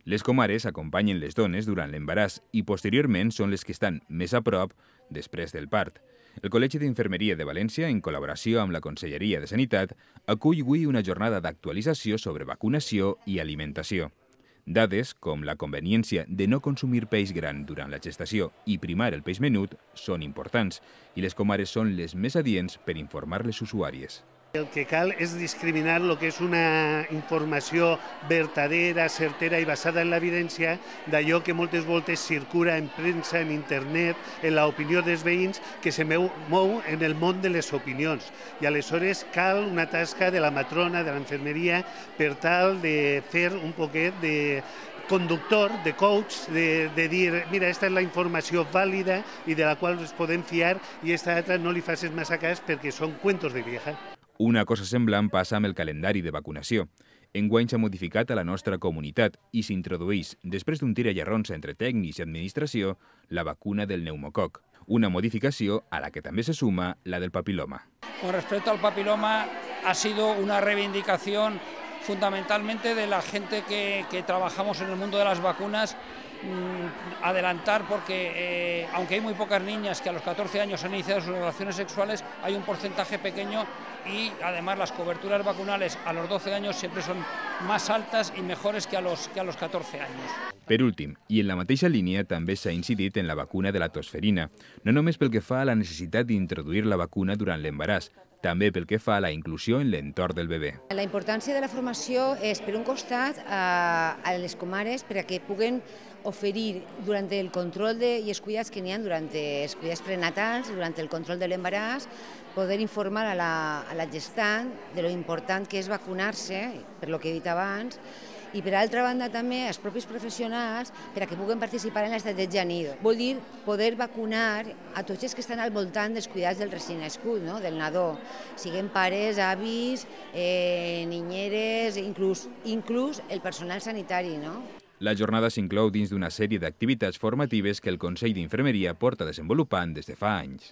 Les comares acompanyen les dones durant l'embaràs i posteriorment són les que estan més a prop després del part. El Col·legi d'Infermeria de València, en col·laboració amb la Conselleria de Sanitat, acull avui una jornada d'actualització sobre vacunació i alimentació. Dades com la conveniència de no consumir peix gran durant la gestació i primar el peix menut són importants i les comares són les més adients per informar les usuàries. El que cal és discriminar el que és una informació vertadera, certera i basada en l'evidència d'allò que moltes voltes circula en premsa, en internet, en l'opinió dels veïns, que se mou en el món de les opinions. I aleshores cal una tasca de la matrona, de l'infermeria, per tal de fer un poquet de conductor, de coach, de dir, mira, esta és la informació vàlida i de la qual ens podem fiar i esta altra no li facis massa cas perquè són cuentos de vieja. Una cosa semblant passa amb el calendari de vacunació. Enguany s'ha modificat a la nostra comunitat i s'introdueix, després d'un tira i arronsa entre tècnics i administració, la vacuna del pneumococ. Una modificació a la que també se suma la del papiloma. Con respecto al papiloma, ha sido una reivindicación fundamentalmente de la gente que trabajamos en el mundo de las vacunas, adelantar porque aunque hay muy pocas niñas que a los 14 años han iniciado sus relaciones sexuales, hay un porcentaje pequeño y además las coberturas vacunales a los 12 años siempre son más altas y mejores que a los 14 años. Per últim, i en la mateixa línia, també s'ha incidit en la vacuna de la tosferina, no només pel que fa a la necessitat d'introduir la vacuna durant l'embaràs, també pel que fa a la inclusió en l'entorn del bebè. La importància de la formació és, per un costat, a les comares perquè puguen oferir durant el control i els cuidats que n'hi ha durant els cuidats prenatals, durant el control de l'embaràs, poder informar a la gestant de lo important que és vacunar-se, per lo que he dit abans, i per altra banda també els propis professionals perquè puguen participar en l'estratègia nido. Vol dir poder vacunar a tots els que estan al voltant dels cuidats del recent nascut, del nadó, siguin pares, avis, ninyeres, inclús el personal sanitari. La jornada s'inclou dins d'una sèrie d'activitats formatives que el Consell d'Infermeria porta desenvolupant des de fa anys.